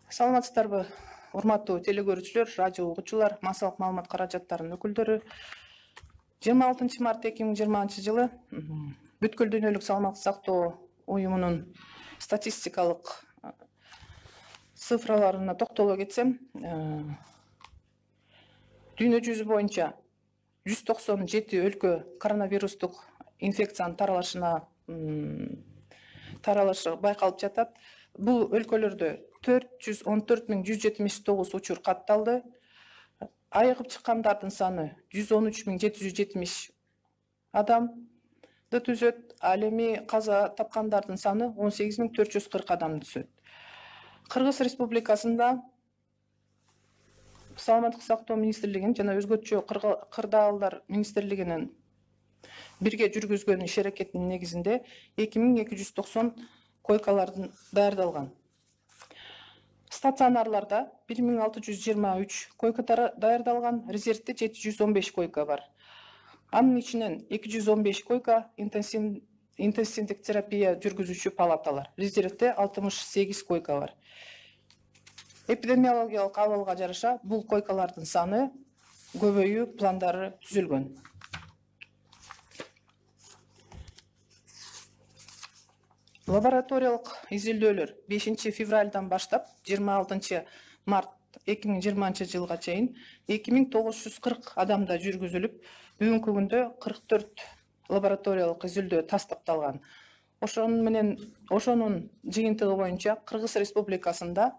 Саламатсыздарбы, урматтуу телекөрүүчүлөр, радио угуучулар, массалык маалымат каражаттарынын өкүлдөрү. 26 март 2020 жылы бүткүл дүйнөлүк саламаттык сактоо уюмунун статистикалык цифраларына токтоло кетсем, дүйнө жүзү боюнча 197 өлкө коронавирустук инфекциянын таралышы байкалып жатат. Бул өлкөлөрдө 414.179 учур катталды. Айыгып чыккандардын саны 113.770 адамды түзөт. Ал эми каза тапкандардын саны 18.440 адамды түзөт. Кыргыз Республикасында Саламаттык сактоо министрлигинин жана өзгөчө кырдаалдар министрлигинин бирге жүргүзгөн иш аракетинин негизинде 2290 койкалардын даярдалган. Стационарларда 1623 койка даярдалган, резервде 715 койка бар. Анын ичинен 215 койка интенсивдик терапия жүргүзүүчү палаталар, резервде 68 койка бар. Эпидемиологиялык абалга жараша бул койкалардын саны көбөйүү пландары түзүлгөн. Лабораториялык изилдөөлөр 5 февралдан баштап 26 март 2020 жылга чейин 2940 адамда жүргүзүлүп, бүгүнкү күндө 44 лабораториялык изилдөө тастыкталган. Ошонун жыйынтыгы боюнча Кыргыз Республикасында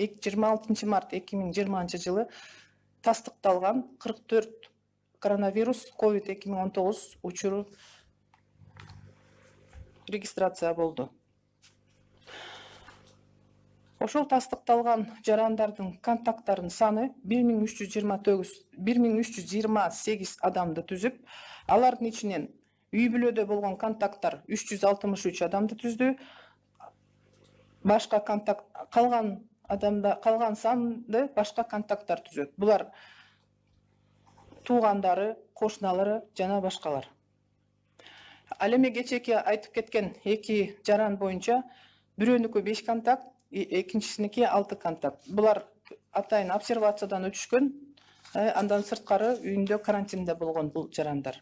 26 март 2020 жылы тастыкталган 44 коронавирус COVID-2019 учуру регистрация болду. Ошол тастыкталган жарандардын контакттарынын саны 1328 адамды түзүп, алардын ичинен үй бүлөдө болгон контакттар 363 адамды түздү. Башка контакт калган санды башка контакттар түзөт. Булар туугандары, кошуналары жана башкалар. Ал эми кечээки айтып кеткен эки жаран боюнча бирөөнүкү 5 контакт, экинчисиники 6 контакт. Булар атайын обсервациядан өтүшкөн, андан сырткары үйүндө карантинде болгон бул жарандар.